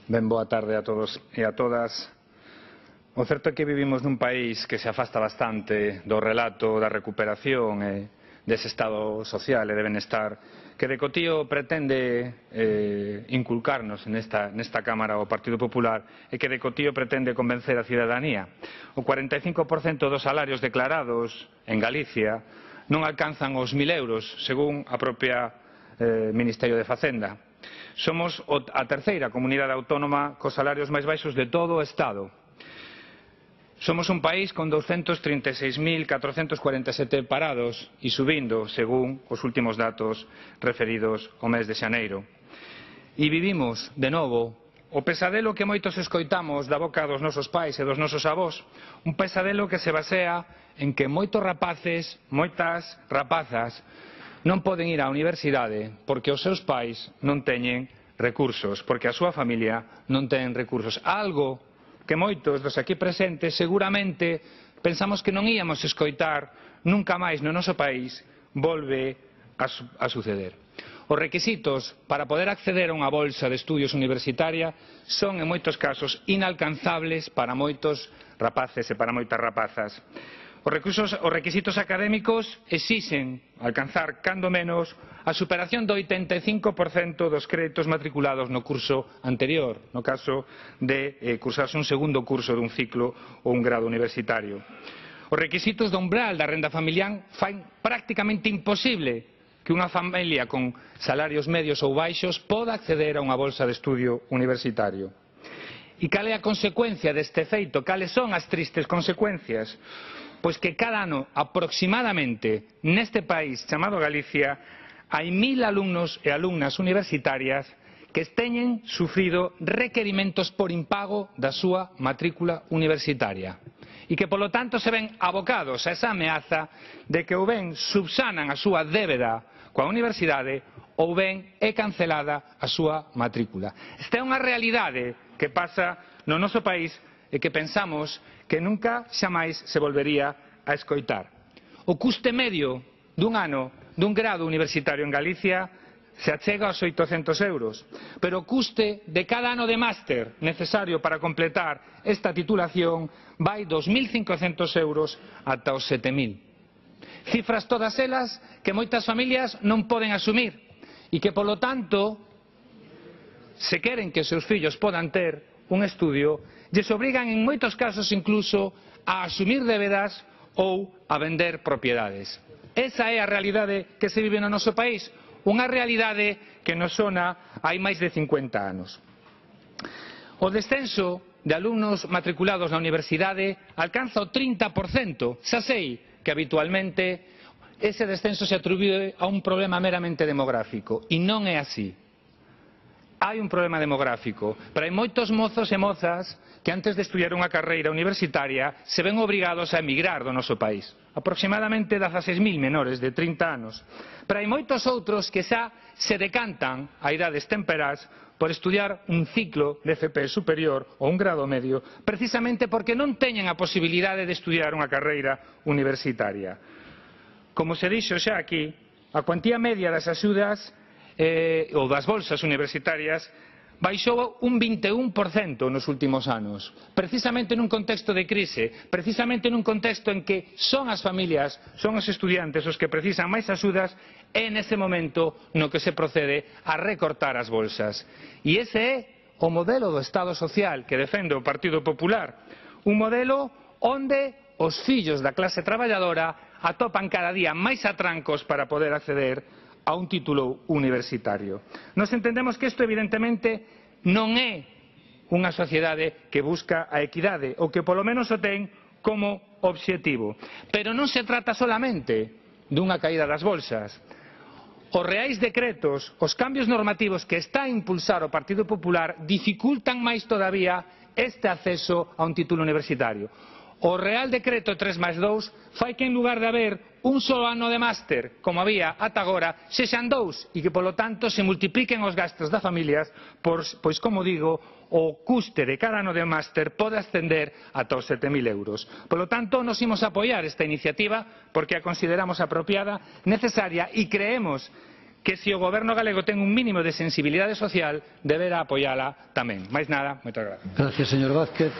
Ben boa tarde a todos e a todas. O certo é que vivimos nun país que se afasta bastante do relato da recuperación e dese estado social e de benestar que decotío pretende inculcarnos nesta Cámara o Partido Popular e que decotío pretende convencer a cidadanía. O 45% dos salarios declarados en Galicia non alcanzan os 1.000 euros, según a propia Ministerio de Facenda. Somos a terceira comunidade autónoma cos salarios máis baixos de todo o Estado. Somos un país con 236.447 parados e subindo, según os últimos datos referidos ao mes de xaneiro. E vivimos, de novo, o pesadelo que moitos escoitamos da boca dos nosos pais e dos nosos avós, un pesadelo que se basea en que moitos rapaces, moitas rapazas, non poden ir á universidade porque os seus pais non teñen recursos, porque a súa familia non ten recursos. Algo que moitos dos aquí presentes seguramente pensamos que non íamos escoitar nunca máis no noso país volve a suceder. Os requisitos para poder acceder a unha bolsa de estudios universitaria son en moitos casos inalcanzables para moitos rapaces e para moitas rapazas. Os requisitos académicos exixen alcanzar, cando menos, a superación do 85% dos créditos matriculados no curso anterior, no caso de cursarse un segundo curso dun ciclo ou un grado universitario. Os requisitos do umbral da renda familiar fan prácticamente imposible que unha familia con salarios medios ou baixos poda acceder a unha bolsa de estudio universitario. E cal é a consecuencia deste feito? Cales son as tristes consecuencias? Pois que cada ano, aproximadamente, neste país chamado Galicia, hai 1.000 alumnos e alumnas universitarias que teñen sufrido requerimentos por impago da súa matrícula universitaria e que, polo tanto, se ven abocados a esa ameaza de que ou ben subsanan a súa débeda coa universidade ou ben é cancelada a súa matrícula. Esta é unha realidade que pasa no noso país e que pensamos que nunca xamais se volvería a escoitar. O custe medio dun ano dun grado universitario en Galicia se achega aos 800 euros, pero o custe de cada ano de máster necesario para completar esta titulación vai dos 1.500 euros ata os 7.000. Cifras todas elas que moitas familias non poden asumir e que, polo tanto, se queren que os seus fillos podan ter un estudio, lles obrigan en moitos casos incluso a asumir débedas ou a vender propiedades. Esa é a realidade que se vive no noso país, unha realidade que nos sona hai máis de 50 anos. O descenso de alumnos matriculados na universidade alcanza o 30%. Xa sei que habitualmente ese descenso se atribúe a un problema meramente demográfico, e non é así. Hai un problema demográfico, pero hai moitos mozos e mozas que antes de estudiar unha carreira universitaria se ven obrigados a emigrar do noso país. Aproximadamente 16.000 menores de 30 anos. Pero hai moitos outros que xa se decantan a idades temperás por estudiar un ciclo de FP superior ou un grado medio, precisamente porque non teñen a posibilidade de estudiar unha carreira universitaria. Como se dixo xa aquí, a cuantía media das axudas ou das bolsas universitarias baixou un 21% nos últimos anos, precisamente nun contexto de crise, precisamente nun contexto en que son as familias, son os estudiantes os que precisan máis axudas, e nese momento no que se procede a recortar as bolsas. E ese é o modelo do Estado social que defende o Partido Popular, un modelo onde os fillos da clase traballadora atopan cada día máis atrancos para poder acceder a un título universitario. Nos entendemos que isto evidentemente non é unha sociedade que busca a equidade ou que polo menos o ten como obxectivo. Pero non se trata solamente dunha caída das bolsas. Os reais decretos, os cambios normativos que está a impulsar o Partido Popular dificultan máis todavía este acceso a un título universitario. O Real Decreto 3+2 fai que en lugar de haber un só ano de máster, como había ata agora, sexan 2 e que, polo tanto, se multipliquen os gastos das familias, pois, como digo, o custe de cada ano de máster pode ascender ata os 7.000 euros. Polo tanto, nos imos apoiar esta iniciativa porque a consideramos apropiada, necesaria e creemos que se o Goberno galego ten un mínimo de sensibilidade social debera apoiala tamén. Máis nada, moitas grazas. Gracias, señor Vázquez.